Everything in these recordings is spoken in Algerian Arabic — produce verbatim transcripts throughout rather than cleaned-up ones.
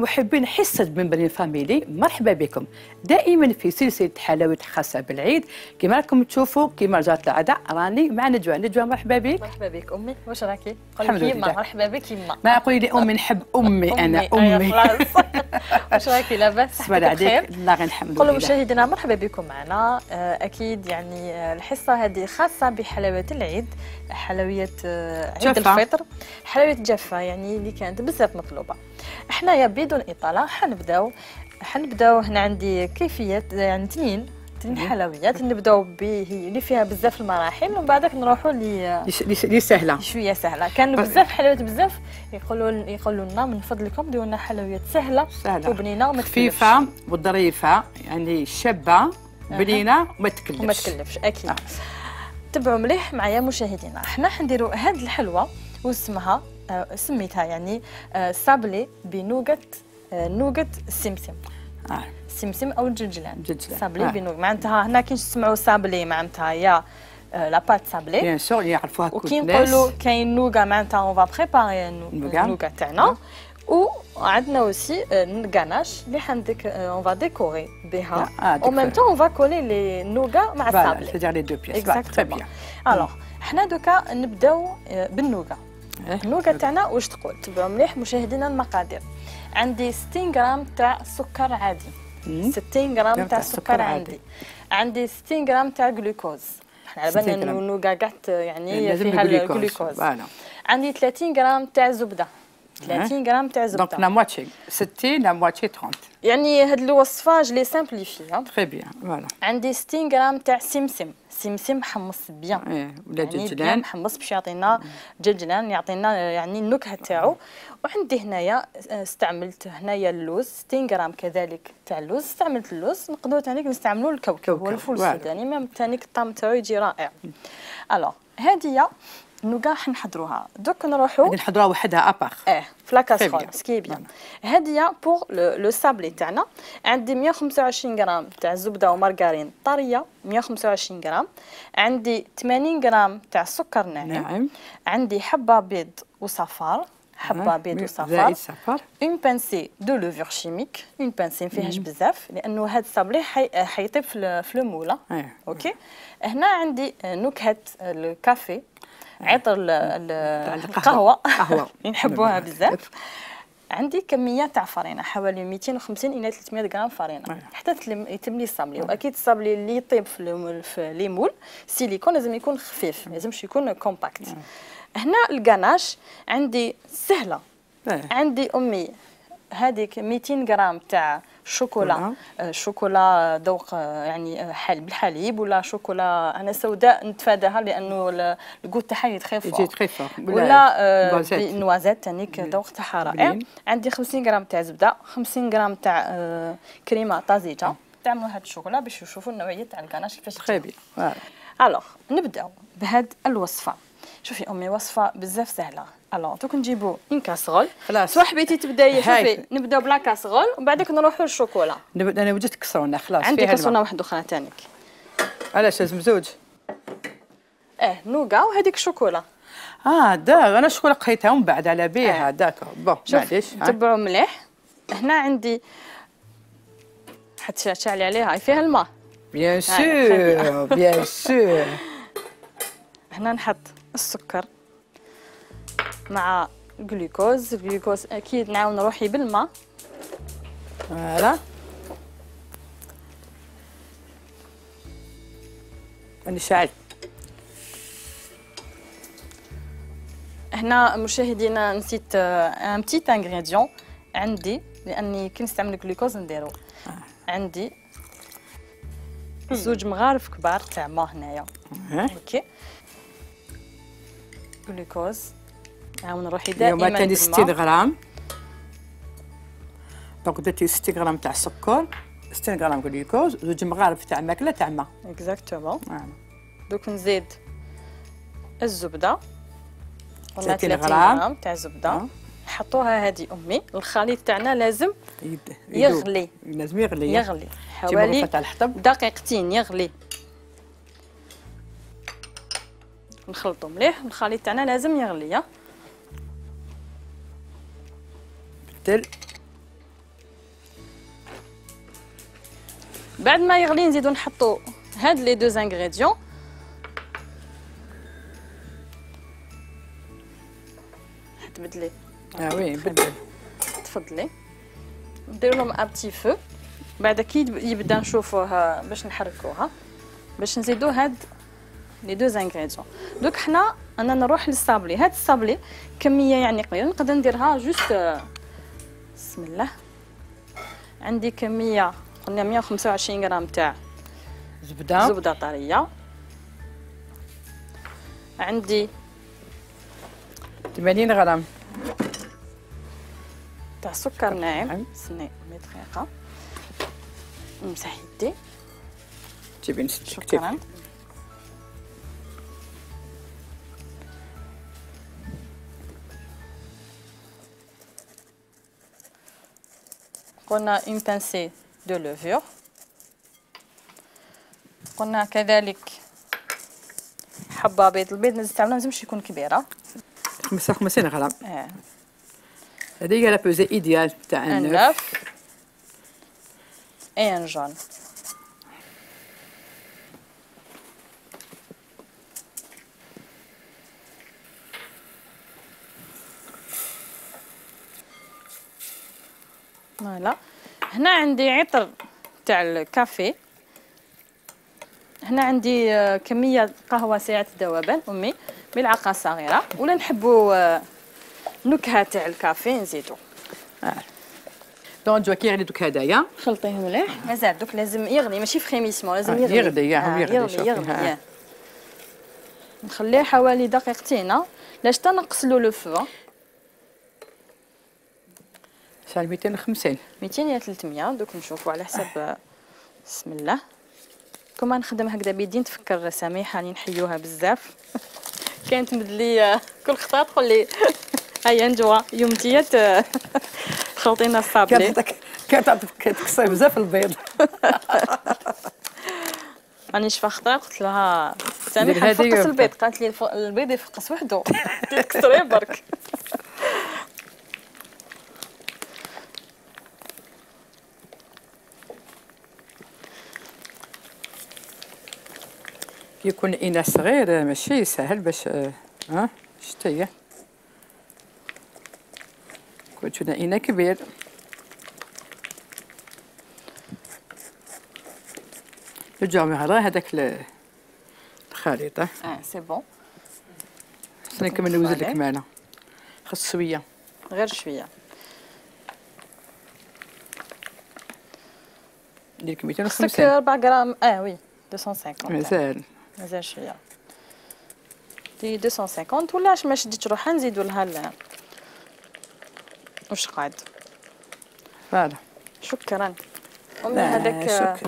محبين حصة بنبرين فاميلي، مرحبا بكم دائما في سلسلة حلويات خاصة بالعيد. كما راكم تشوفوا كما جات العادة راني مع نجوى. نجوى مرحبا بك. مرحبا بك أمي، واش راكي؟ الحمد لله. مرحبا بك يما. ما قولي لي أمي، نحب أمي أنا أمي. واش راكي لاباس؟ صباح عليك. الله غير الحمد لله. قولوا مشاهدينا مرحبا بكم معنا. أكيد يعني الحصة هذه خاصة بحلويات العيد، حلويات عيد الفطر، حلويات جافة يعني اللي كانت بزاف مطلوبة. حنايا بدون إطالة حنبداو حنبداو هنا عندي كيفية يعني اثنين اثنين حلويات. نبداو به اللي فيها بزاف المراحل ومن بعدك نروحوا ل اللي سهلة شوية سهلة. كان بزاف حلويات بزاف يقولوا يقولوا لنا من فضلكم ديروا لنا حلويات سهلة سهلة وبنينة وما خفيفة وظريفة، يعني شابة بنينة وما تكلفش وما تكلفش أكيد. آه. تبعوا مليح معايا مشاهدينا. حنا حنديروا هاد الحلوة واسمها آه سميتها يعني آه سابلي بنوغت آه نوغت السمسم. آه. السمسم او الجلجلان. الجلجلان سابلي آه. بنوغ معناتها هنا كي تسمعوا سابلي معناتها يا آه لا بات سابلي بيان سور يعرفوها كل الناس. وكي نقولوا كاين نوغا معناتها اون فا بريباري النوغا تاعنا. وعندنا اوسي الكاناش اللي حنديك اون فا ديكوري بها او ميم طون اون فا كولي لي نوغا مع السابلي. سيتير لي دو بيس. تري بيان. الوغ حنا دوكا نبداو بالنوغا. النوغا تاعنا واش تقول؟ تبعوا مليح مشاهدينا المقادير. عندي ستين غرام تاع سكر عادي، ستين غرام تاع سكر عندي، عندي ستين غرام تاع جلوكوز. حنا على بالنا انه النوغا قعدت يعني فيها الجلوكوز. عندي ثلاثين غرام تاع زبده، ثلاثين غرام تاع زبده. دونك لا مواتشي ستين لا مواتشي ثلاثين. يعني هاد الوصفه جلي سامبليفي. تري بيان فوالا. عندي ستين غرام تاع سمسم، سمسم محمص بيان. ايه ولا جلجلان. يعني محمص باش يعطينا جلجلان، يعطينا يعني النكهه تاعو. وعندي هنايا استعملت هنايا اللوز ستين غرام كذلك تاع اللوز. استعملت اللوز، نقدروا ثاني نستعملوا الكوكب والفول السوداني ميم ثاني الطعم تاعو يجي رائع. الوغ هذه النوغا حنحضروها دوك نروحوا نحضروها وحدها ابار. اه في لاكاسرول سكي بيان. هذه بور لو سابلي تاعنا. عندي مية وخمسة وعشرين غرام تاع زبده ومارغرين طريه، مية وخمسة وعشرين غرام. عندي ثمانين غرام تاع سكر ناعم. نعم. عندي حبه بيض وصفار، حبه بيض وصفار. اون بانسي دو لوفور شيميك، اون بانسي ما فيهاش بزاف لانه هذا الصابلي حيطيب في في الموله. اوكي. هنا عندي نكهه الكافي، عطر القهوه قهوه نحبوها بزاف. عندي كميه تاع فرينه حوالي مئتين وخمسين الى ثلاثمية غرام فرينه حتى يتم لي الصابلي. واكيد الصابلي اللي يطيب في لي مول سيليكون لازم يكون خفيف، ما لازمش يكون كومباكت. هنا الكاناش عندي سهله. عندي امي هذيك مئتين غرام تاع شوكولا، شوكولا ذوق يعني حليب بالحليب ولا شوكولا انا سوداء نتفاداها لانه الكوت تاعها يتخف يجي تخف، ولا نوازيت تانيك ذوق تاعها رائع. عندي خمسين غرام تاع زبده، خمسين غرام تاع كريمه طازجه. تعملوا هاد الشوكولا باش تشوفوا النوعيه تاع الكاناش كيفاش تخيبي. الوغ نبداو بهاد الوصفه. شوفي امي وصفه بزاف سهله. الوغ دوك نجيبو اون كاسرول. خلاص سوا حبيتي تبداي شوفي نبداو بلا كاسرول ومن بعدك نروحوا للشوكولا. انا وجدت كسرونه خلاص. عندي كسرونه واحده اخرى ثانيك. علاش لازم زوج؟ اه نوغا وهذيك الشوكولا. اه داك انا الشوكولا قيتها ومن بعد على بيها. آه. داك بون معليش تبعوا مليح. هنا عندي حتى شعلي عليها فيها الماء. بيان سور بيان سور. هنا نحط السكر مع الجلوكوز. الجلوكوز اكيد نعاون روحي بالماء. فوالا راني شاعل. هنا مشاهدينا نسيت ان بتيت انغريديون عندي لاني كي نستعمل الجلوكوز نديرو. آه. عندي زوج مغارف كبار تاع ما هنايا. آه. اوكي. جلوكوز نعاون روحي دائما اليوم تاني ستين غرام. دونك درتي ستين غرام تاع السكر، ستين غرام جلوكوز، زوج مغارف تاع ماكله تاع ما. اكزاكتومون. دوك نزيد الزبده ثلاثين غرام تاع زبده. نحطوها هذه امي. الخليط تاعنا لازم يغلي. لازم يغلي يغلي حوالي دقيقتين يغلي. نخلطو مليح. الخليط تاعنا لازم يغلي. بدل بعد ما يغلي نزيدو نحطو هاد لي دو انغريديون. تبدلي اه وي بدل. تفضلي. نديرو لهم ان بتي فو. بعد كي يبدا نشوفوها باش نحركوها باش نزيدو هاد لي دو انغريديون. دوك حنا انا نروح للصابلي. هاد الصابلي كميه يعني قليله نقدر نديرها جوست. بسم الله. عندي كميه قلنا مية وخمسة وعشرين غرام تاع زبده زبده طريه. عندي ثمانين غرام تاع سكر ناعم. استني مية دقيقه نمسح يدي. تجيبي شكرا. قلنا une pincée de levure. قلنا كذلك حبة بيض. البيض نستعملها ملازمش يكون كبيرة. خمسة وخمسين غرام. اه هذه هي لا بوزي ايديال تاع النوف. اي ان جون. فوالا. هنا عندي عطر تاع الكافي. هنا عندي كميه قهوه سريعه الذوبان امي ملعقه صغيره. ولا نحبوا نكهه تاع الكافي نزيدو. اه دونك جوا كي يغلي دوك هدايا خلطيه مليح. مازال دوك لازم يغلي ماشي فريميسمون لازم آه يغلي. يغلي يا آه يغلي يغلي يغلي. نخليه حوالي دقيقتين لاش تنقصلو لو فو. شحال ميتين وخمسين ميتين يا ثلاثمية. دوك نشوفوا على حسب. بسم الله. كما نخدم هكذا بيدين تفكر سميحه راني نحيوها بزاف. كانت تمد لي كل خطره تقول لي هيا نجوا يومتيه خلطينا الصابلي. كانت تكسر بزاف البيض. راني شفا خطره قلت لها سميحه نفقس البيض. قالت لي البيض يفقس وحده تكسريه برك. كي يكون اناء صغير ماشي سهل باش ها شتي هي. كنت اناء كبير نرجعو غير هذاك الخليط. اه سي بون. خصني نكمل نوزن لك معنا. خص شويه غير شويه. ندير لك ميتين وخمسين. خصك أربعة غرام. اه وي مئتين وخمسين. مازال مازال شويه. دي مئتين وخمسين ولا اش ما شديتش روحها نزيدو لها واش قاعد. فوالا. شكرا امي. هذاك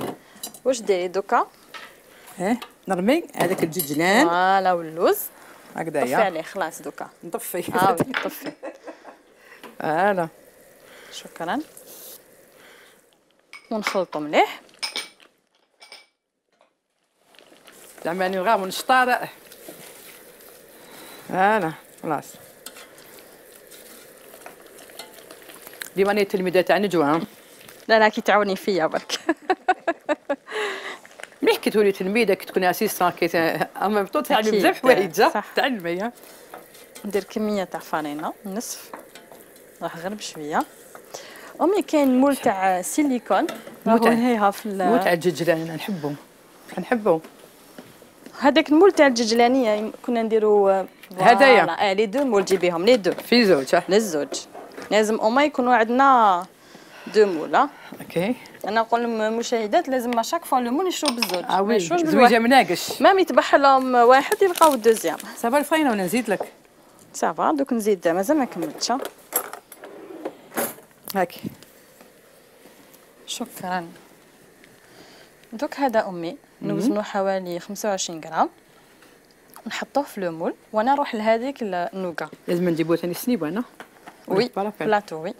واش ديري دوكا؟ اه نرمي هذاك الججلان. فوالا واللوز هكذايا. طفي عليه خلاص دوكا. نطفي. اه طفي. فوالا. شكرا. ونخلطو مليح. زعما غير ونشطار. فوالا خلاص. ديما راني التلميذه تاع نجوى. لا لا كي تعاوني فيا برك. مليح كي تولي تلميذه كي تكوني اسيستون كي اما بطول تعلمي بزاف حوايج. تعلمي. ندير كميه تاع فرينه نصف. راح غير بشويه. امي كاين مول تاع سيليكون راهو هيها في مول تاع الججلان نحبهم نحبهم. هذاك المول تاع الججلانيه كنا نديرو هدايا. اه لي دو مول جيبيهم لي دو في زوج. للزوج لازم أما يكونوا عندنا دو مول. اوكي. انا نقول للمشاهدات لازم شاك فوا لو مول يشرو بالزوج. اه وي زويجه مناقش. مام يتبح لهم واحد يلقاو الدوزيام. صافا الفرينه ولا نزيد لك؟ صافا دوك نزيد مازال ما كملتش. هاكي. شكرا. دوك هذا امي نوزنو حوالي خمسة وعشرين غرام. نحطوه في لو مول وانا نروح لهذيك النوكا. لازم نجيبو ثاني السنيبه انا. وي بلاطو وي.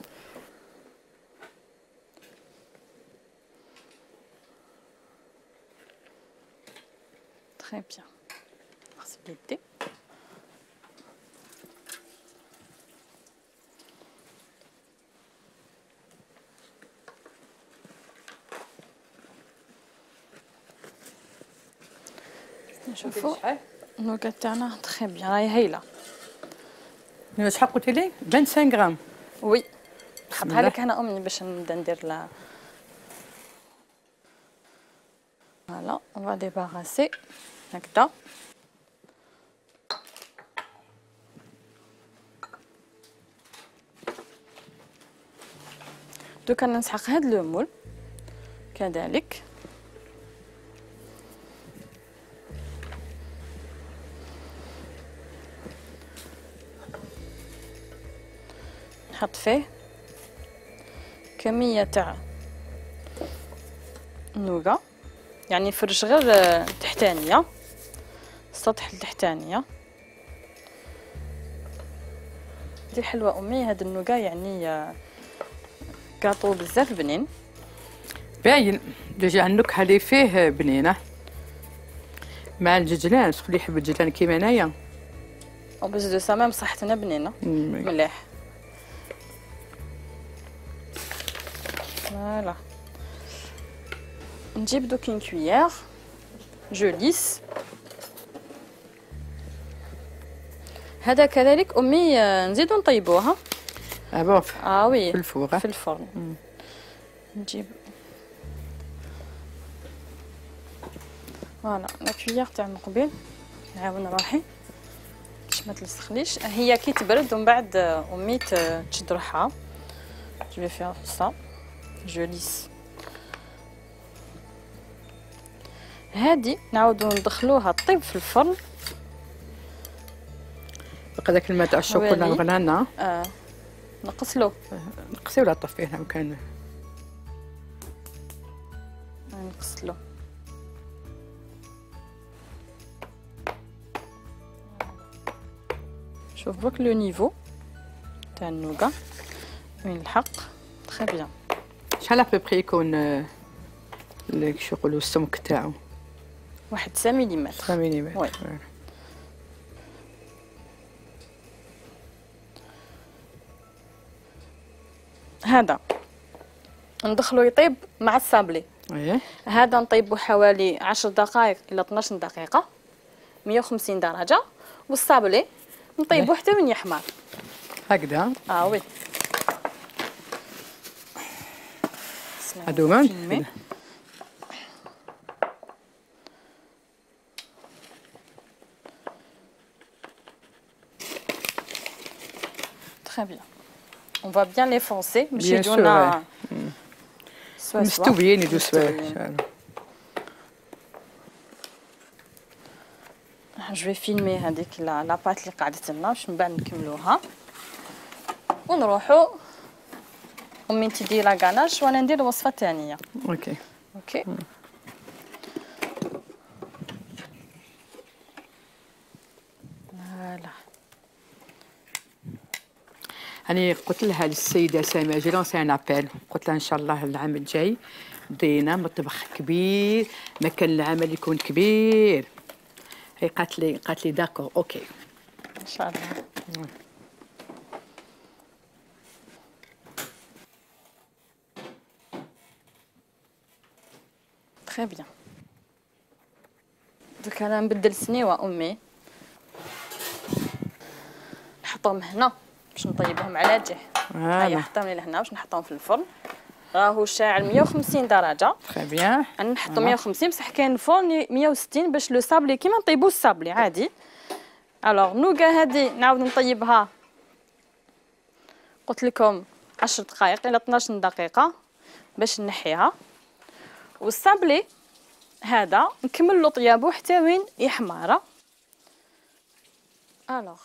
تري بيان. غسل يدي. نشوفوا النوكا تاعنا تخي بيان راهي هايله. شحال قلتي لي؟ خمسة وعشرين غرام. وي نحطها لك هنا امي باش نبدا ندير لها. فوالا اون فا ديباراسي هكذا. دوكا نسحق هاد لو مول كذلك. نحط فيه كمية تاع النوغا، يعني فرش غير التحتانية، السطح التحتانية. دي حلوة امي هاد النوغا، يعني كاطو بزاف بنين باين. ديجا النكهه اللي فيه بنينه مع الججلان. شكون اللي يحب الججلان كيما انايا؟ او بس دو سا ميم صحتنا بنينه مليح. فوالا نجيب دوك اون كويير جو ليس. هذا كذلك امي نزيدو نطيبوها. اه بون اه وي في الفور في الفرن. مم. نجيب فوالا لا كويير تاع من قبيل، نعاون روحي باش ما تلصقليش. هي كي تبرد ومن بعد امي تشد روحها. جو في فيغ سا جو ليس. هادي نعاودو ندخلوها طيب في الفرن. بقى داك الماء تاع الشوكولا غلينا. اه نقصلو نقصي ولا طفيه مكان نقصلو. شوف برك لو نيفو تاع النوغا وين الحق تري بيان. شحال ابوبري يكون اللي شو يقولوا السمك تاعو؟ واحد تسعة مليمتر. تسعة مليمتر. وي. هذا ندخلو يطيب مع الصابلي. ايه هذا نطيبو حوالي عشر دقائق الى اثناش دقيقه مية وخمسين درجه، والصابلي نطيبو حتى من يحمر هكذا. اه وي هادو مان très bien. On va bien les foncer باش Bien sûr, يجونا مستويين يدو سوايع. جو في فيلمي هذيك لا لاباط اللي قعدت لنا باش من بعد نكملوها ونروحوا. امي تدي لا غاناش وانا ندير الوصفه الثانيه. اوكي اوكي. فوالا أنا قلت لها للسيدة سامية جي لونسي ان ابيل، قلت لها إن شاء الله العام الجاي دينا مطبخ كبير، مكان العمل يكون كبير. هي قالت لي قالت لي داكور اوكي ان شاء الله. تري بيان. دوكا انا نبدل سنيوه امي نحطهم هنا باش نطيبهم على جهه. هيا حطهم لي لهنا باش نحطهم في الفرن. راهو شاعل مية وخمسين درجه. تري بيان. انا نحطو مية وخمسين بصح كاين الفرن مية وستين باش لو صابلي كيما نطيبو الصابلي عادي. الوغ نوغا هادي نعاود نطيبها قلت لكم عشر دقائق الى اثناش دقيقه باش نحيها، والصابلي هذا نكمل له طيابو حتى وين يحمر. الوغ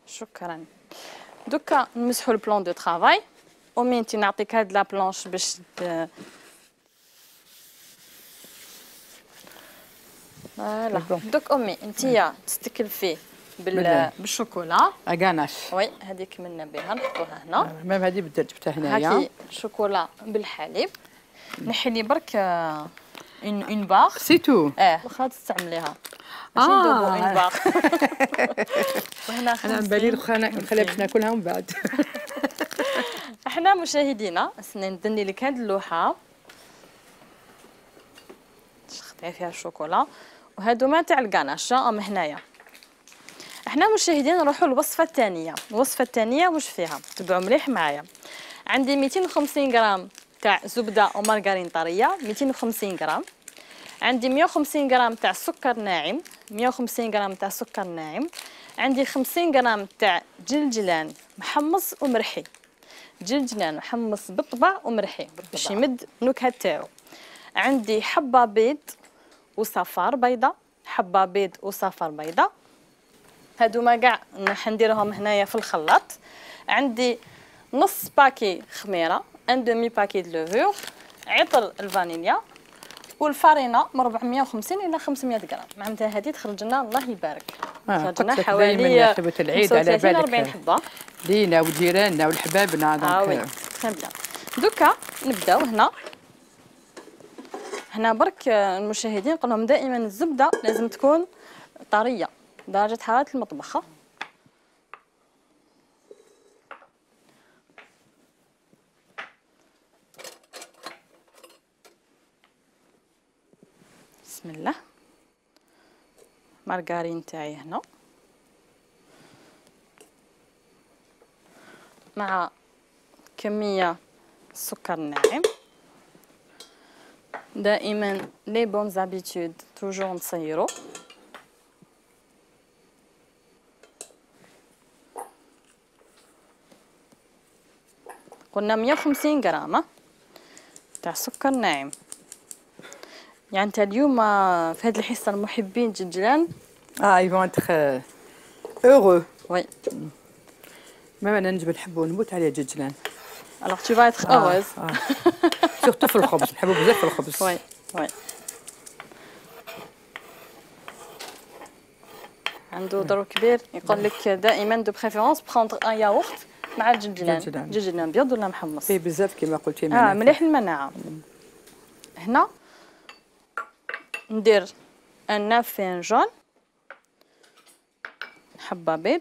شكرا. دوكا نمسحوا البلان دو طرافاي. امي انت نعطيك هاد لا بلانش باش فوالا. دوك امي انت تستكلفي بال بالشوكولا اغاناش. وي هذيك منا بها نحطوها هنا. ميم هذه بدات جبتها هنايا. هاكي شوكولا بالحليب. نحي لي برك اون اون بار سي تو. اه واخا تستعمليها ماشي ندوبو اون بار. وهنا انا بالي نخليها باش ناكلها من بعد. حنا مشاهدينا استنى ندني لك هاد اللوحه شختي فيها الشوكولا وهادوما تاع الكاناش راهم هنايا. احنا مشاهدين نروحوا للوصفه الثانيه. الوصفه الثانيه واش فيها؟ تبعوا مليح معايا. عندي مئتين وخمسين غرام تاع زبده ومارغرين طريه، مئتين وخمسين غرام. عندي مئة وخمسين غرام تاع سكر ناعم، مئة وخمسين غرام تاع سكر ناعم. عندي خمسين غرام تاع جلجلان محمص ومرحي، جلجلان محمص بالطبع ومرحي باش يمد النكهه تاعو. عندي حبه بيض وصفار بيضه، حبه بيض وصفار بيضه، هادوما كاع حنديرهم هنايا في الخلاط. عندي نص باكي خميره، ان دومي باكي دو لوفور، عطر الفانيليا، والفارينه من أربعمئة وخمسين الى خمسمئة غرام. معناتها هذه تخرج لنا الله يبارك خرج لنا حوالي خدمه العيد على بالك أربعين حبه لينا وجيراننا والحبابنا. اه وي تري بيان. دوكا نبداو هنا. هنا برك المشاهدين نقول لهم دائما الزبده لازم تكون طريه درجه حراره المطبخ. بسم الله. مارغرين تاعي هنا مع كميه سكر ناعم. دائما لي بون زابيتود توجور نصيرو. قلنا مئة وخمسين غرام تاع سكر ناعم. يعني انت اليوم في هذه الحصه المحبين الجلجلان اه اي فون تخ heureux. وي مام انا نجم نحبو نموت عليه الجلجلان. الوغ tu vas être heureuse. سورتو في الخبز نحبو بزاف في الخبز. وي وي عنده دور كبير. يقول لك دائما دو بريفيرونس بروندر ان ياغورت مع الجلجلان. جلجلان ابيض ولا محمص؟ فيه بزاف كيما قلتي اه مليح المناعه. هنا ندير ان فنجان حبه بيض،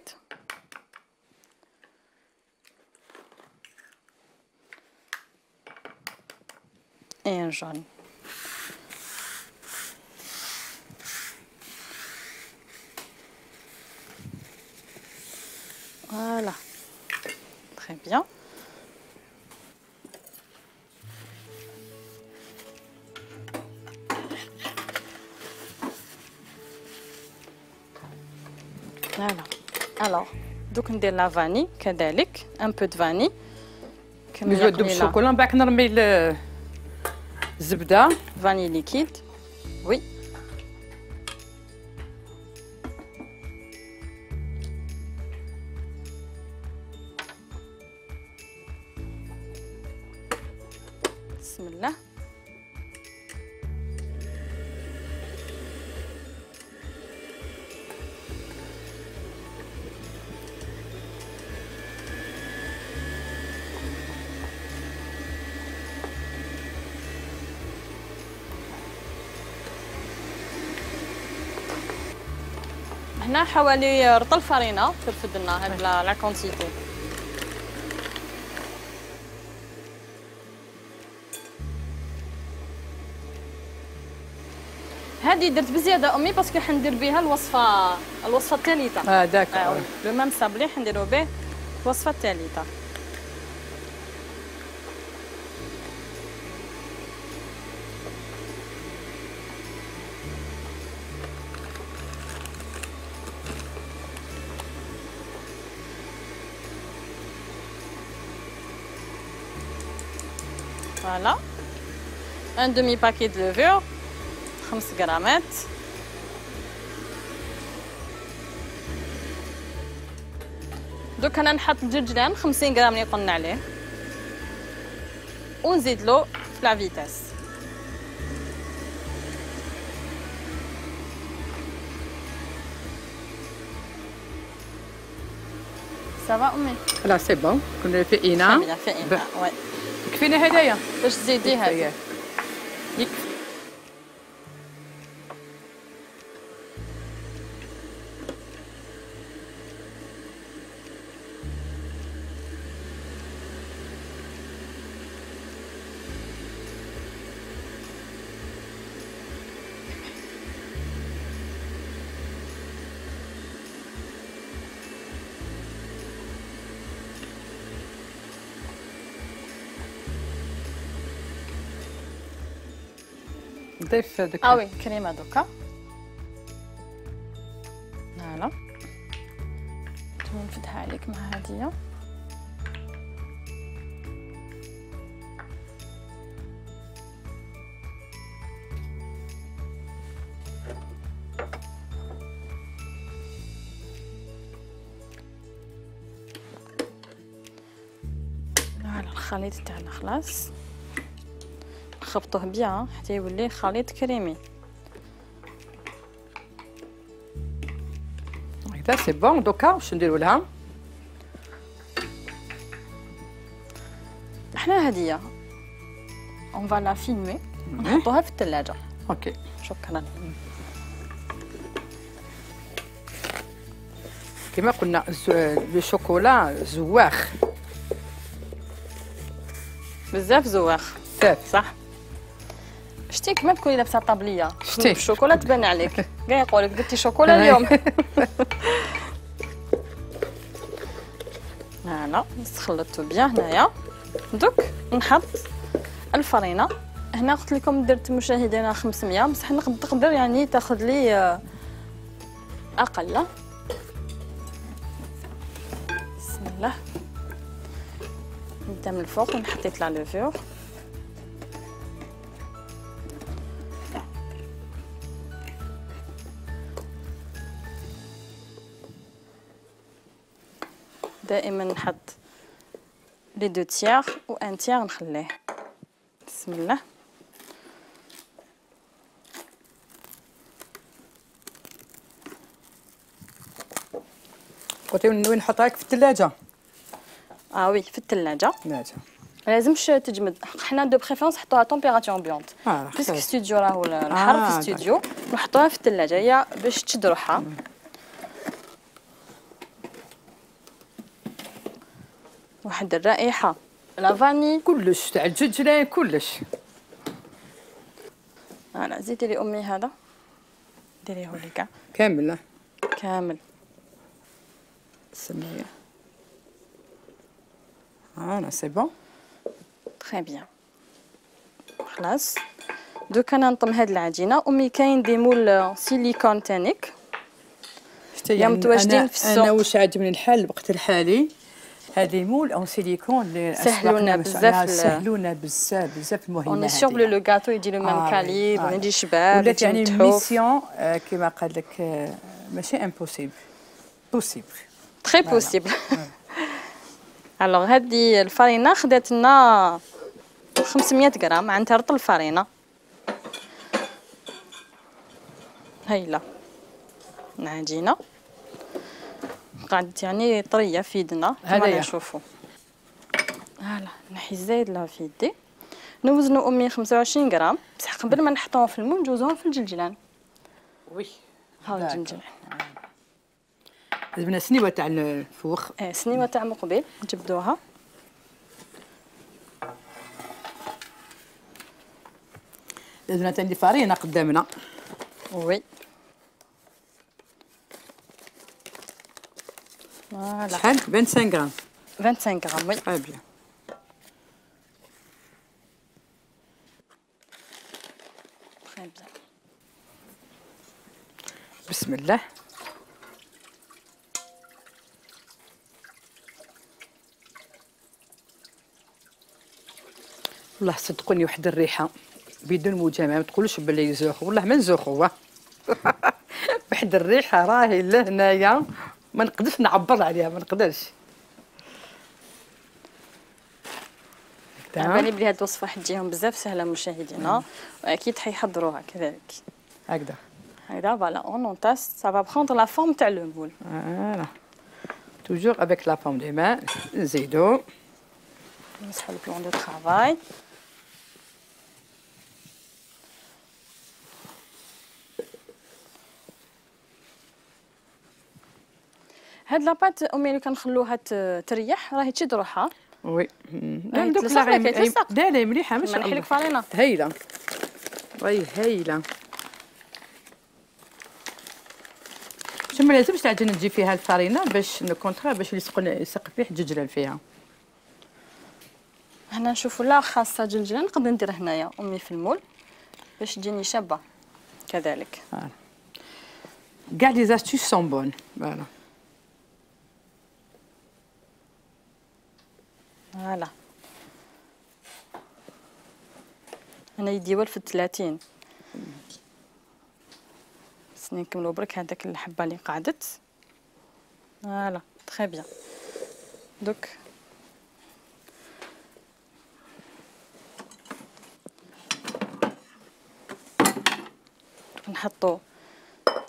ان جون. Voilà, très bien. Voilà. Alors, دوك ندير لا فاني كذلك ان بو دو فاني كميه قليله. نذوب الشوكولا من بعد نرمي الزبده فاني ليكيد. وي بسم الله. هنا حوالي رطل فرينه ترفد لنا هاد لا كونتيتي. هذه درت بزياده امي باسكو حندير بها الوصفه الوصفه الثالثه. اه داك آه لو ميم صابلي حنديرو به الوصفه الثالثه. فوالا ان دومي باكي دو لوفور خمس غرامات. دوك انا نحط الجلجلان خمسين غرام اللي قلنا عليه ونزيد له في لا فيتاس. سافا امي؟ لا سي بون. كنا في اناء. في اناء وي. يكفينا هدايا باش تزيدي هذه. يكفي. نضيف داك اه وي كريمه دوكا. فوالا نفدها عليك مع هاديه. الخليط تاعنا خلاص نخبطوه بيان حتى يولي خليط كريمي. هكذا سي بون. دوكا واش نديرو لها؟ احنا هديه اون فا لا فيلمي ونحطوها في الثلاجه. اوكي شكرا. كما قلنا لو شوكولا زواخ بزاف زواخ بزاف صح. شتي كما تكوني لابسه طابليه شتي الشوكولا تبان عليك كاع يقولك درتي شوكولا اليوم. فوالا خلطتو بيان هنايا. دوك نحط الفرينه. هنا قلت لكم درت مشاهدينا خمسمية بصح نقدر يعني تاخذ لي اقل. بسم الله نبدا من الفوق ونحطيت لا لوفور. دائما نحط لي دو تيير و ان تيير نخليه. بسم الله. قلتي وين نحطها في الثلاجه؟ اه وي في الثلاجه. ثلاجه لازمش تجمد. حنا دو بريفيرونس نحطوها طومبيراتور امبيونط اه باسكو ستوديو راهو الحر آه في الاستوديو نحطوها في الثلاجه هي باش تشد روحها. واحد الرائحه لا فاني كلش تاع الججرة كلش. فوالا زيدي لي امي هذا ديريه لي كاع كامل كامل. سميه فوالا سي بون تري بيان. خلاص دوكا انا نطم هاد العجينه. امي كاين دي مول سيليكون تانيك يعني متواجدين في السوق. انا واش عجبني الحال الوقت الحالي هذه مول اون سيليكون اللي سهلونا بزاف سهلونا بزاف بزاف مهمه. اوني سيغ بلو لو غاتو يجي لو ميم كاليبر ويجي شباب ولات يعني ميسيون كيما قال لك ماشي امبوسيبل بوسيبل تري بوسيبل. الوغ هذه الفرينه خدات لنا خمسمية غرام. عندها رطل الفرينه هايله العجينه قعدت يعني طريه في يدنا كما نشوفوا. هلا نحي الزايد لها في يدي. نوزنوا امي خمسة وعشرين غرام بصح قبل ما نحطوهم في المول نجوزوهم في الجلجلان. وي هاو الجلجلان لازمنا سنيوه تاع الفوخ. اه سنيوه تاع مقبل نجبدوها. لازمنا تاع الفرينه قدامنا. وي فوالا شحال خمسة وعشرين غرام خمسة وعشرين غرام. وي تري بيان. تري بيان. بسم الله. والله صدقوني واحد الريحه بدون مجامله ما تقولوش بلي يزوخ والله ما نزوخوا. واحد الريحه راهي لهنايا ما نقدرش نعبر عليها ما نقدرش. بالي بلي هاد الوصفه حتجيهم بزاف سهله مشاهدينا واكيد حيحضروها كذلك. هكذا هكذا فوالا اون اونطاس سا فا بروندر لا فورم تاع لو مول. فوالا توجور افيك لا فورم دي مان. نزيدو نمسحو البلون دو طرافاي. هاد لاباط امي لو كنخلوها تريح راهي تشد روحها. وي لا دوك لا لا مليحه ماشي نحي لك فرينه هايله راهي هايله. شو ما لازمش العجينه تجي فيها الفرينه باش نكونطرا باش يلصقوا يلصق فيه الجلجلان فيها. هنا نشوفوا لا خاصه جلجلان نقدر ندير هنايا امي في المول باش تجيني شابه كذلك. كاع لي زاستيس سون بون. فوالا فوالا انا يدي ولف الثلاثين. خصني نكملو برك هذاك الحبه اللي قعدت. فوالا تري بيان. دوك نحطو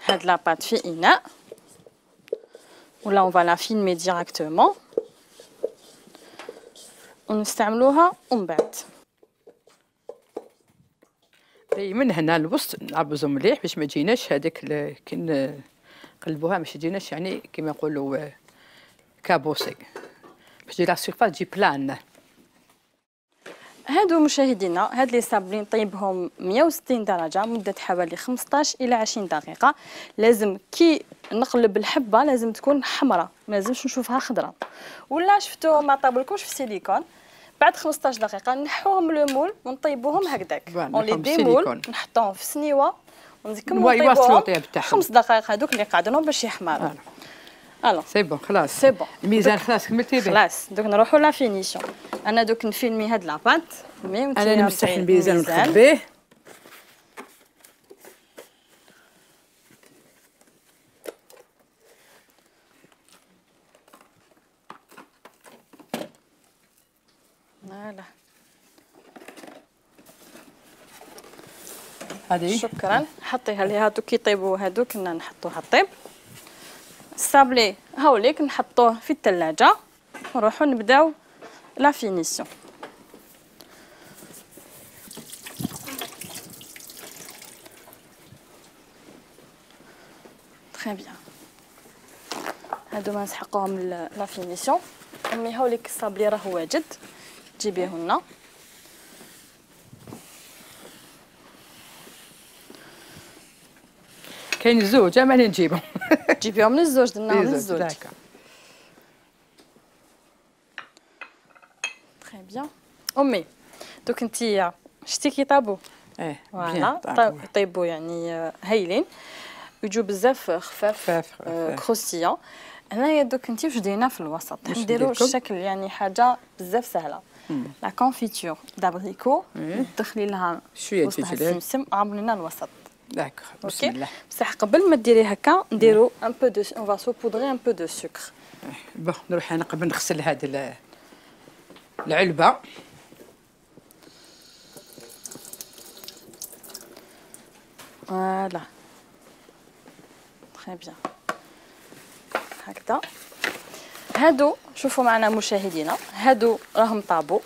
هاد لاباط في اناء ولا اون فا فيلمي ديراكتومون ونستعملوها ومن بعد من هنا الوسط نعبزو مليح باش ما تجيناش هذاك كي نقلبوها باش تجيناش يعني كيما نقولوا كابوسي باش تجي لا سيرفاس تجي بلان. هادو مشاهدينا هاد لي صابلين طيبهم مية وستين درجه مده حوالي خمسطاش الى عشرين دقيقه. لازم كي نقلب الحبه لازم تكون حمراء، ما لازمش نشوفها خضراء. ولا شفتو ما طابلكمش في السيليكون بعد خمسطاش دقيقه نحوهم لو ونطيبوهم هكذاك اون لي ديمول نحطوهم في سنيوه ونكملوا نطيبوهم خمس دقائق هذوك اللي قعدناهم باش يحمروا. الو سي بون خلاص سي بون الميزان خلاص كملتي به خلاص. دوك نروحوا لا فينيسيون. انا دوك نفيلمي هاد لاباط انا نمسح الميزان ونخبيه. فوالا هذه شكرا. حطيها لي هادوك كيطيبوا هادوك كنا نحطوها طيب. الصابلي هاوليك نحطوه في الثلاجه ونروحوا نبداو لا فينيسيون. تري بيان. هادو ما نسحقوهم لا فينيسيون. امي هاوليك الصابلي راه واجد جيبيه لنا. كاين الزوج اما اللي نجيبهم جيبيهم من الزوج درناهم من الزوج. تري بيان. امي دوك انتيا شتي كي طابو ايه فوالا يطيبوا يعني هايلين ويجوا بزاف خفاف كروستيون. هنايا دوك انتي واش دايرين في الوسط نديروا الشكل يعني حاجه بزاف سهله. لا كونفيتور دابريكو تدخلي لها شويه السمسم عاملينها الوسط. داكور بسم الله. بصح قبل ما ديري هكا نديرو ان بو دو اون فا سو بودري ان بو دو سكر. بون نروح انا قبل نغسل هاد العلبه. فوالا تري بيان هكذا. هادو شوفوا معنا مشاهدينا هادو راهم طابو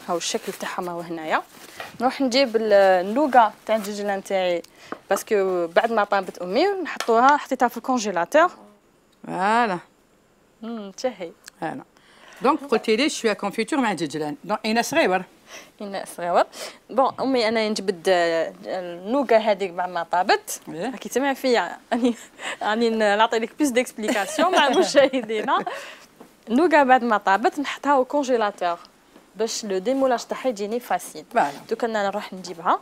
هاو الشكل تاعهم هو هنايا. نروح نجيب النوغا تاع الججلان تاعي باسكو بعد ما طابت امي نحطوها حطيتها في الكونجيلاتور. فوالا امم تشهي انا دونك قلتي لي شويه كونفيتور مع الججلان دونك اين صغيور اين صغيور. بون امي انا نجبد النوغا هذيك بعد ما طابت راكي تسمع فيا راني راني نعطي لك بلوس ديكسبليكاسيون مع مشاهدينا. النوغا بعد ما طابت نحطها au congélateur باش لو ديمولاج تاعها يجيني فاسيل. دوك انا نروح نجيبها.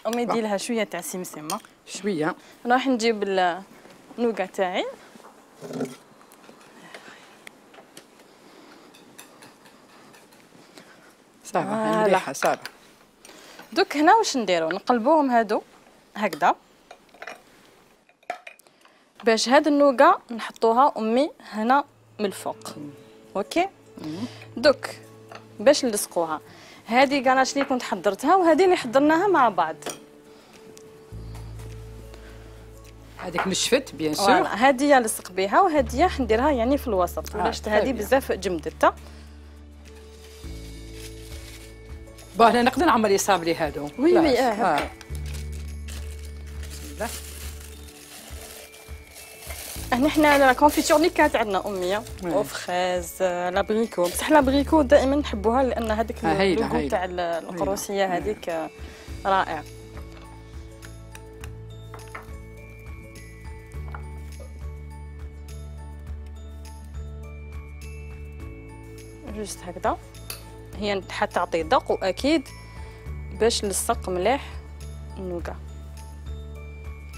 امي دي لها شويه تاع سمسمه شويه. نروح نجيب النوغا تاعي صافا مليحه صافا. دوك هنا واش نديرو نقلبوهم هادو هكذا باش هاد النوغا نحطوها امي هنا من الفوق. اوكي دوك باش نلصقوها هذه كاناش اللي كنت حضرتها وهذه اللي حضرناها مع بعض. هذيك نشفت بيان سور. فوالا هذه لصق بها وهذه نديرها يعني في الوسط ولا شفت هذه بزاف جمدتها. بون انا نقدر نعمر يصابلي هادو. وي وي اه بسم الله. هنا حنا لا كونفيتور اللي كانت عندنا اميه او فريز لابريكو بصح لابريكو دائما نحبوها لان هذيك اللوغو تاع القروسيه هذيك رائع. جوست هكذا، هي حتعطي ذوق واكيد باش نلصق مليح النوكا.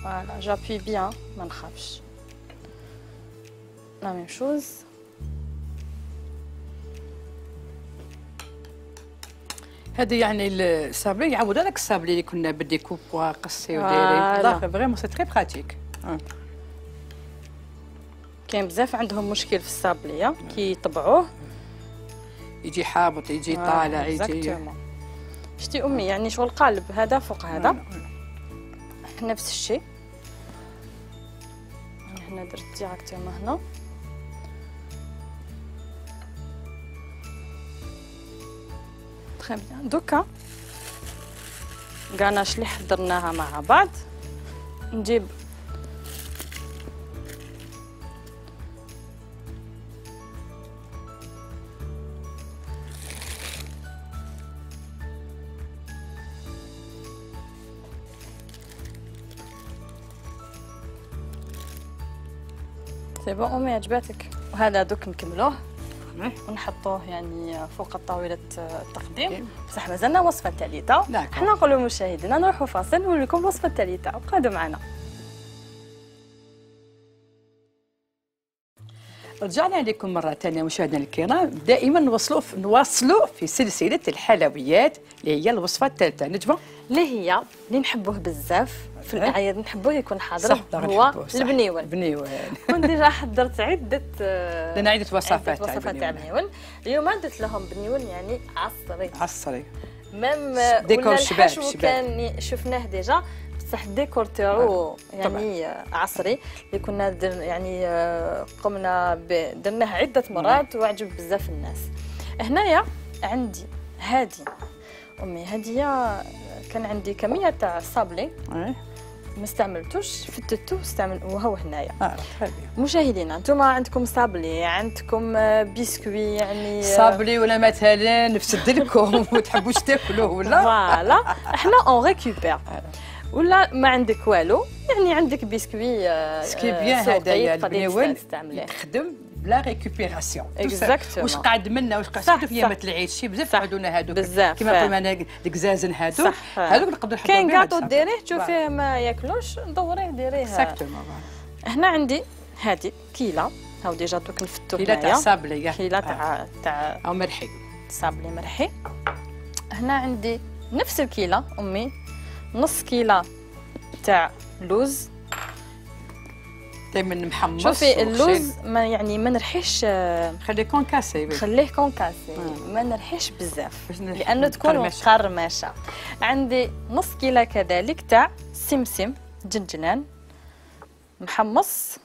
فوالا جابي بيان ما نخافش. لا ميم شوز. هذا يعني الصابلي يعوض هذاك الصابلي اللي كنا بدي كوبوا قصي ودايرين. لا فريمون سي تري براتيك. كاين بزاف عندهم مشكل في الصابليه كي يطبعوه يجي حابط يجي طالع يجي. شتي امي يعني شغل قالب هذا فوق هذا نفس الشيء. هنا درت ديراكتومون هنا. تري بيان. دوكا كاناش اللي حضرناها مع بعض نجيب سي بون امي عجباتك. وهذا دوك نكملوه ونحطوه يعني فوق طاوله التقديم. بصح مازالنا الوصفه الثالثه. حنا نقولوا للمشاهدين نروحوا فاصل ونوريكم الوصفه الثالثه. ابقوا معنا. رجعنا لكم مرة ثانية مشاهدينا الكرام. دائما نواصلوا نواصلوا في سلسلة الحلويات اللي هي الوصفة الثالثة نجمة اللي هي اللي نحبوه بزاف في الأعياد، نحبوه يكون حاضر هو البنيول. البنيول وديجا حضرت عدة لنا عدة وصفات وصفات تاع البنيول. اليوم درت لهم بنيول يعني عصري عصري ميم ديكور شباب شباب كان شفناه ديجا بصح الديكور تاعو يعني عصري اللي كنا در يعني قمنا درناه عده مرات وعجب بزاف الناس. هنايا عندي هادي امي هديه كان عندي كميه تاع صابلي ما استعملتوش فتتو استعمل وهو هنايا. اه مشاهدينا انتم عندكم صابلي عندكم بسكوي يعني صابلي ولا مثلا نفسد لكم وتحبوش تاكلوه ولا فوالا احنا اون ريكوبير ولا ما عندك والو يعني عندك بسكوي سكي بيان هذايا البنيول يخدم بلا ريكوبيراسيون. واش قاعد منا واش قاعد في ايامات العيد شي بزاف عندنا هذوك كيما قلنا الكزازن هذوك هذوك نقدروا نحطوا كاين كاطو ديريه تشوفيه ما ياكلوش دوريه ديريه. اكزاكتومون. هنا عندي هذه كيله هاو ديجا دوك نفتو كيله تاع صابلي كيله تاع تاع او مرحي صابلي مرحي. هنا عندي نفس الكيله امي نص كيله تاع لوز دائما محمص. شوفي اللوز ما يعني ما نرحيش خليه كونكاسي خليه كونكاسي ما نرحيش بزاف لانه تكون مقرمشه. عندي نص كيله كذلك تاع سمسم جنجنان محمص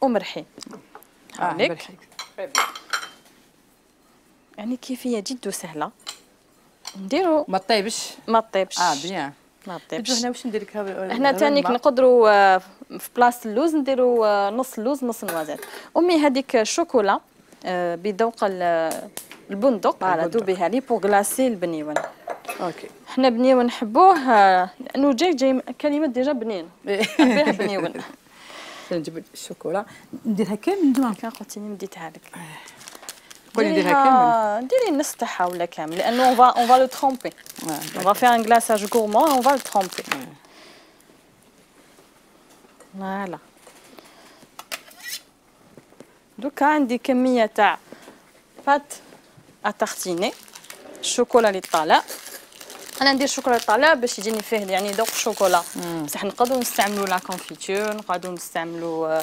ومرحي. هاوليك يعني كيفيه جد سهله نديرو ما طيبش ما طيبش اه بيان ما طيبش. هنا واش ندير لك هنا ثاني نقدروا في بلاصه اللوز نديروا نص لوز نص نوازيت. امي هذيك الشوكولا بذوق البندق على دوبيها لي بور غلاسي البنيون. اوكي حنا بنيون نحبوه لانه جاي جاي كلمه ديجا بنين فيها بنيون. نجيب الشوكولا نديرها كامل كان قلتيني مديتها لك قولي نديرها كامل ديري النص تاعها ولا كامل لانه اون فا اون فا لو ترومبي اون فا فير ان غلاساج غورمون اون فا لو ترومبي. فوالا دوكا عندي كميه تاع بات اتارتيني الشوكولا اللي طالع. انا ندير شوكولا طالع باش يجيني فيه يعني ذوق الشوكولا بصح نقدروا نستعملوا لا كونفيتور نقدروا نستعملوا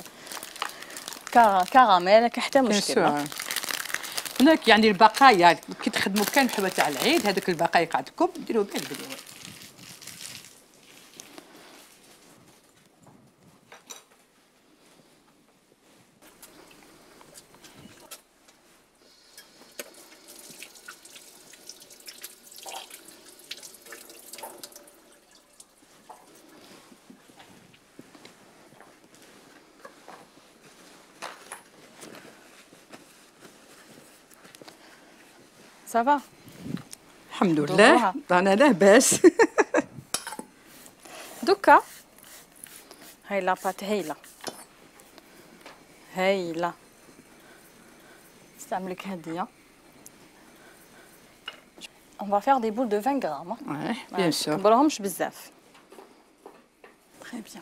كراميل حتى مشكل. هناك يعني البقايا كي تخدموا كان الحلوى تاع العيد هذوك البقايا قاعدكم ديروا بها البنيول. صافا الحمد لله رانا لاباس. دوكا هاي لاباط هايله هايله نستعملك هديه on va faire des boules de vingt grammes. Ouais, bien sûr. كبرهمش بزاف. Très bien.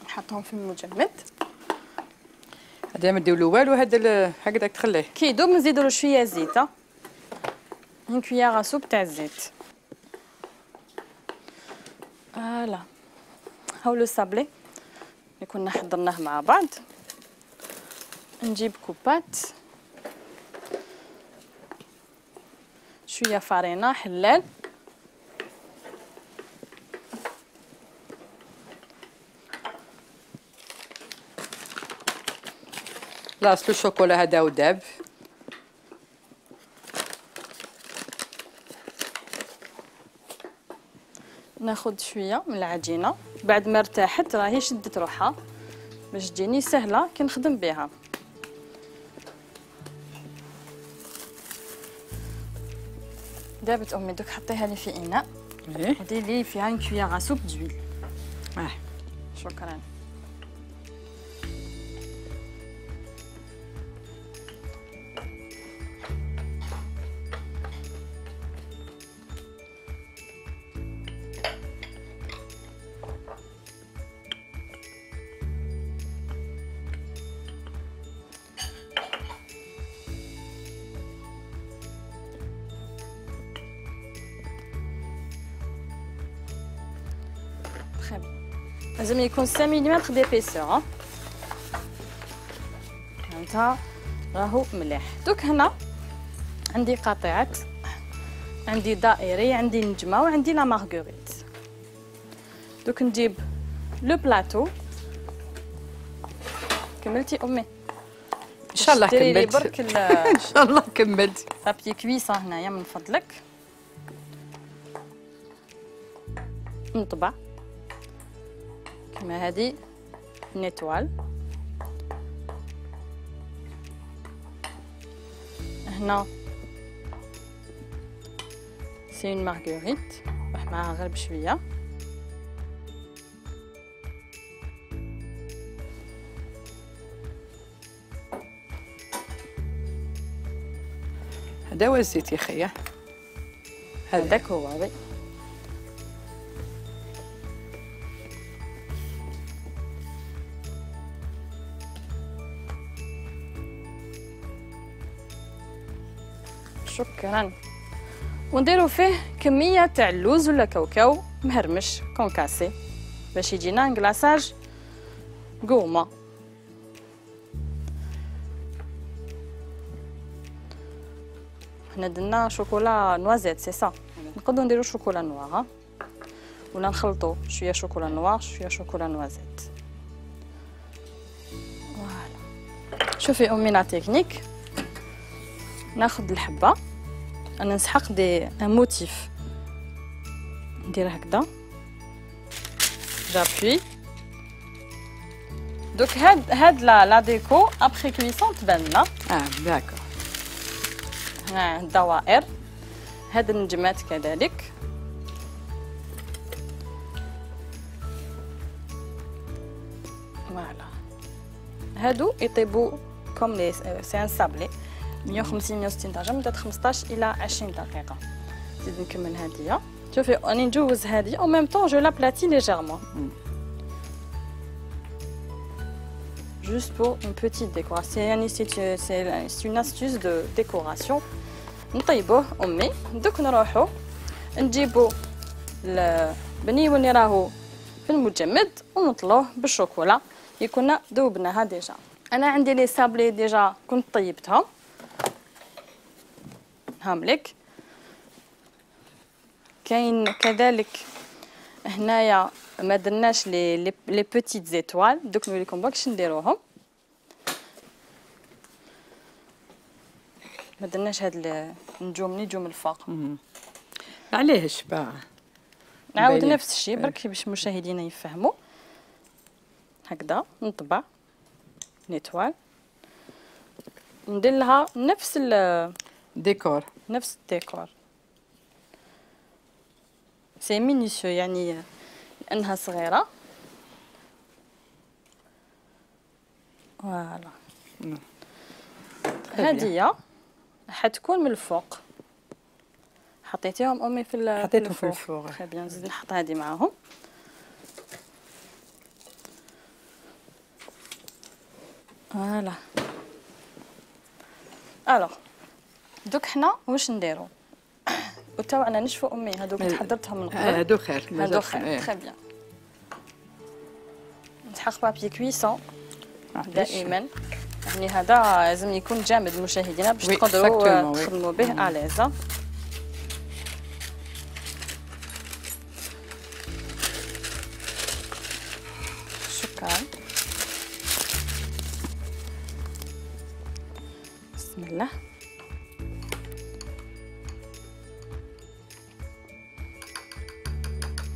نحطهم في المجمد. هذا ما نديرو والو، هذا هكذاك تخليه. كي يدوب نزيدو له شويه زيت. اون كويير سوب تاع الزيت. فوالا. هاو لو صابلي اللي كنا حضرناه مع بعض. نجيب كوبات، شويه فارينه حلال، لاصلو الشوكولا هذا وداب. ناخذ شويه من العجينه بعد ما ارتاحت، راهي شدت روحها باش تجيني سهله كي نخدم بها. دابت امي دوك حطيها لي في اناء وديري لي فيها اون كويير سوب دويل. اه شكرا. لازم يكون خمسة مليمتر ديبيسور. هانتا راهو مليح. دوك هنا عندي قطيعات، عندي دائري، عندي نجمه، وعندي لا مارغوريت. دوك نجيب لو بلاطو. كملتي امي؟ ان شاء الله كملت. برك ان شاء الله كملت. بابي كويسه هنايا من فضلك. نطبع كما هذه نيتوال. هنا سي اون مارغوريت، راح معاها غير بشويه. هذا هو الزيت يا خيا، هذاك هو. وي شكرا. ونديرو فيه كميه تاع اللوز ولا كاوكاو مهرمش كونكاسي باش يجينا كلاصاج قومه. حنا درنا شوكولا نوازيت سي صا، نقدروا نديرو شوكولا نوار ولا نخلطوا شويه شوكولا نوار شويه شوكولا نوازيت. فوالا. شوفي امي لا تكنيك. ناخذ الحبه، انا نسحق دي ان موتيف، ندير هكذا جابوي. دوك هاد هاد لا لا ديكو ابخي كويسون تبان لنا. اه داكور. ها الدوائر، هاد النجمات كذلك. فوالا. هادو يطيبوا كوم لي سي ان سابلي مية وخمسين مية وستين درجه مده خمسطاش الى عشرين دقيقه. نزيد نكمل هاديه. شوفي راني نجوز هادي او ميم طون جو لابلاتي ليجيرمون juste pour une petite décoration. يعني c'est c'est une astuce de décoration. نطيبوه امي. دوك نروحو نجيبو البنيو اللي راهو في المجمد ونطلوه بالشوكولا اللي كنا ذوبناها ديجا. انا عندي لي سابلي ديجا كنت طيبتهم هاملك. كاين كذلك هنايا ما درناش لي لي بوتيت زيتوال، دوك نوريكم باش نديروهم. ما درناش هاد النجوم نجوم الفوق. علاش با نعاود نفس الشيء برك باش المشاهدين يفهموا. هكذا نطبع نيتوال ندير لها نفس الديكور نفس الديكور. سي مينيسيو يعني لانها صغيره. فوالا. هادية حتكون من الفوق. حطيتيهم امي في الفوق؟ حطيتهم في الفوق. تري بيان. نزيد نحط هادي معاهم. فوالا. الوغ دوك حنا واش نديرو؟ وتو انا نشفو امي هادوك حضرتهم من قبل. هادو خير. هادو خير. تري بيان. نسحق بابي كويسون دائما. يعني هذا لازم يكون جامد مشاهدينا باش تقدروا تخدموا به اليزا. شكرا. بسم الله.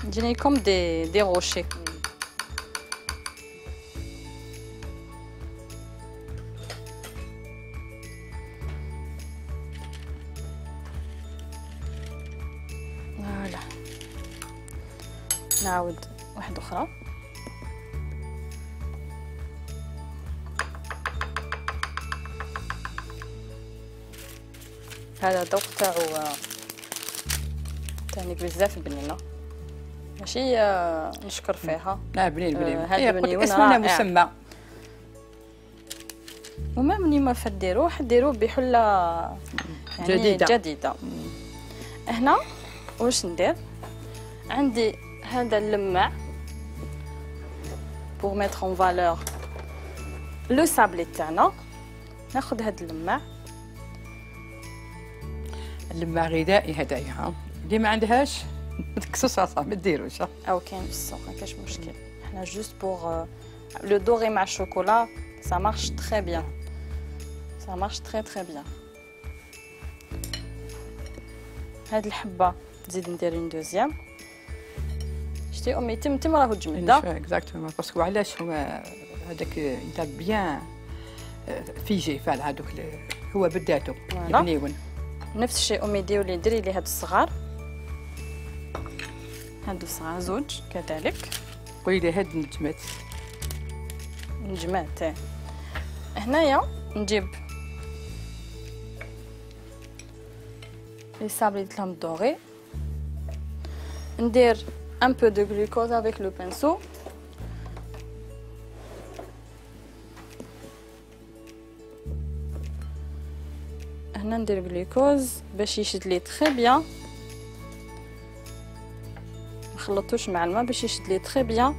يجيني كوم دي دي روشي. فوالا. نعاود واحدة أخرى. هذا الذوق تاعو تعنيك بزاف البنينه. ماشي نشكر فيها. لا بنين بنين. هذا بنين اسمنا مسمى. وما مني ما فديروه حديروه بحله يعني جديده. جديده. هنا واش ندير؟ عندي هذا اللماع pour mettre en valeur le sablé تاعنا. ناخذ هذا اللماع. اللماع غذائي هدايا ها. اللي ما عندهاش كسوسه ما ديروش. او كاين في السوق ما كاش مشكل. حنا جوست بوغ لو دوري مع الشوكولا ça marche très bien. ça marche très très bien. هاد الحبه نزيد ندير اون دوزيام. شتي امي تم تم راهو تجمد. اكزاكتومون باسكو علاش هما هذاك انت بيان فيجي فعل هذوك هو بداتو بنيون. نفس الشيء امي ديروا لي ديري لي هاد الصغار. هادو الصغار زوج كذلك. قولي لي هاد النجمات. نجمات. هنايا نجيب لي صابلي تاعهم دوري. ندير un peu de glucose avec le pinceau. هنا ندير غلوكوز باش يشد لي تري بيان. ما خلطوش مع الماء باش يشد لي تري بيان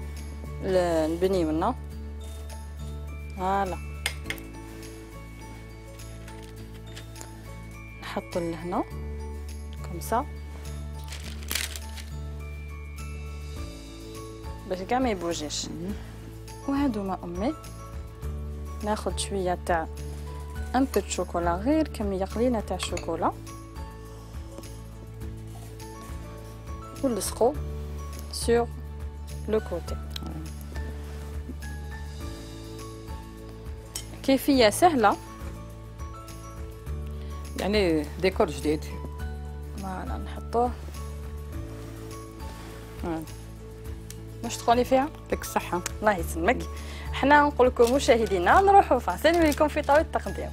البنيونه. فوالا. نحطو لهنا كوم سا باش كاع ما يبوجيش. وهادوما امي ناخذ شويه تاع ان بو دو شوكولا غير كميه قليله تاع الشوكولا ونلصقو سور لو كوتي. كيفيه سهله يعني ديكور جديد. فوالا نحطوه. واش تقولي فيها؟ يعطيك الصحة. الله يسلمك. حنا نقول لكم مشاهدينا نروحوا فاصل ونوليكم في طاولة التقديم.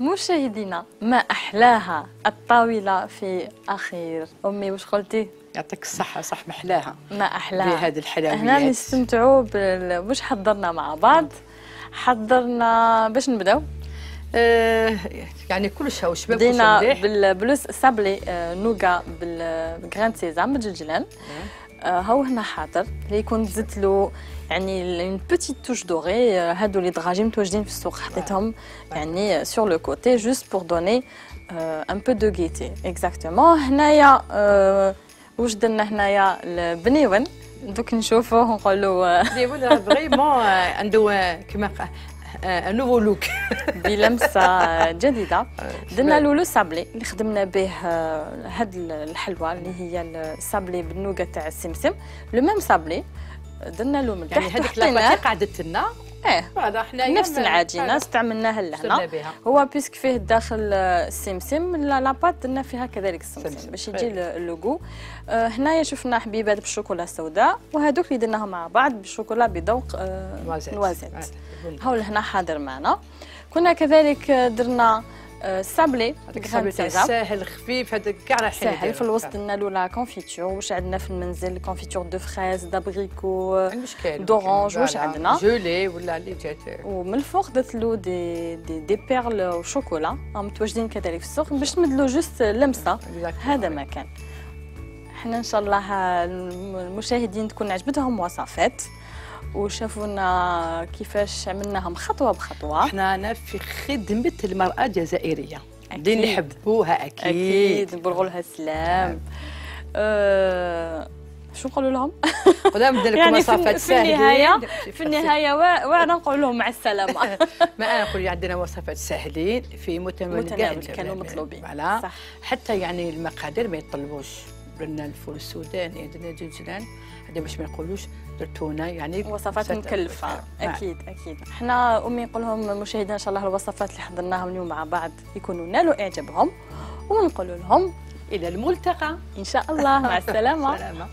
مشاهدينا ما أحلاها الطاولة في أخير. أمي واش قلتي؟ يعطيك الصحة. صح محلاها. ما أحلاها بهذه الحلويات. هنا نستمتعوا بال... واش حضرنا مع بعض. حضرنا باش نبداو. آه يعني كلش هاو شباب بدينا بالبلوس سابلي آه نوغا بالغران سيزام بالجلجلان. آه هاو هنا حاضر اللي يكون زدت له يعني اون بوتيت توش دوري. هادو اللي دراجي متواجدين في السوق حطيتهم يعني سور لو كوتي جوست بور دوني ان بو دو غيتي. اكزاكتومون. هنايا آه واش درنا هنايا البنيون دوك نشوفوه ونقولوا بنيون فريمون عنده كيما ان نوفو لوك بلمسه جديده. درنا له لو سابلي اللي خدمنا به هاد الحلوى اللي هي السابلي بالنوغا تاع السمسم. لو ميم سابلي درنا له من يعني هذيك لاباطي قعدت لنا ايه هذا حنايا نفس العجينه استعملناها لهنا. هو بيسك فيه داخل السمسم، لاباط درنا فيها كذلك السمسم باش يجي اللوغو. آه هنايا شفنا حبيبات بالشوكولا السوداء، وهذوك اللي درناهم مع بعض بالشوكولا بذوق آه نوازيت. هاو هنا حاضر معنا. كنا كذلك درنا السابلي، هذاك السابلي ساهل خفيف، هذاك كاع راح ساهل. في الوسط درنا له لا كونفيتور. واش عندنا في المنزل؟ كونفيتور دو فريز، دابريكو، دورانج. واش عندنا؟ جولي ولا اللي جات. ومن الفوق درت له دي دي دي بيرل وشوكولا متواجدين كذلك في السوق باش نمد له جوست لمسه. هذا ما كان. احنا ان شاء الله المشاهدين تكون عجبتهم وصفات وشافونا كيفاش عملناهم خطوه بخطوه. احنا انا في خدمه المراه الجزائريه اللي يحبوها. اكيد اكيد نبلغوا لها السلام. أه... شو نقولوا لهم؟ ولا نبدا لكم يعني وصفات سهله. في النهايه في النهايه وانا نقول لهم مع السلامه. ما انا نقول عندنا وصفات سهلين في متناول كاع كانوا مطلوبين. فوالا حتى يعني المقادير ما يطلبوش. درنا الفول السوداني، درنا جنجلان، هذا باش ما يقولوش درتونا يعني وصفات مكلفه. اكيد اكيد. احنا امي نقول لهم مشاهدينا ان شاء الله الوصفات اللي حضرناهم اليوم مع بعض يكونوا نالوا اعجابهم، ونقول لهم الى الملتقى ان شاء الله. مع السلامه. سلامة.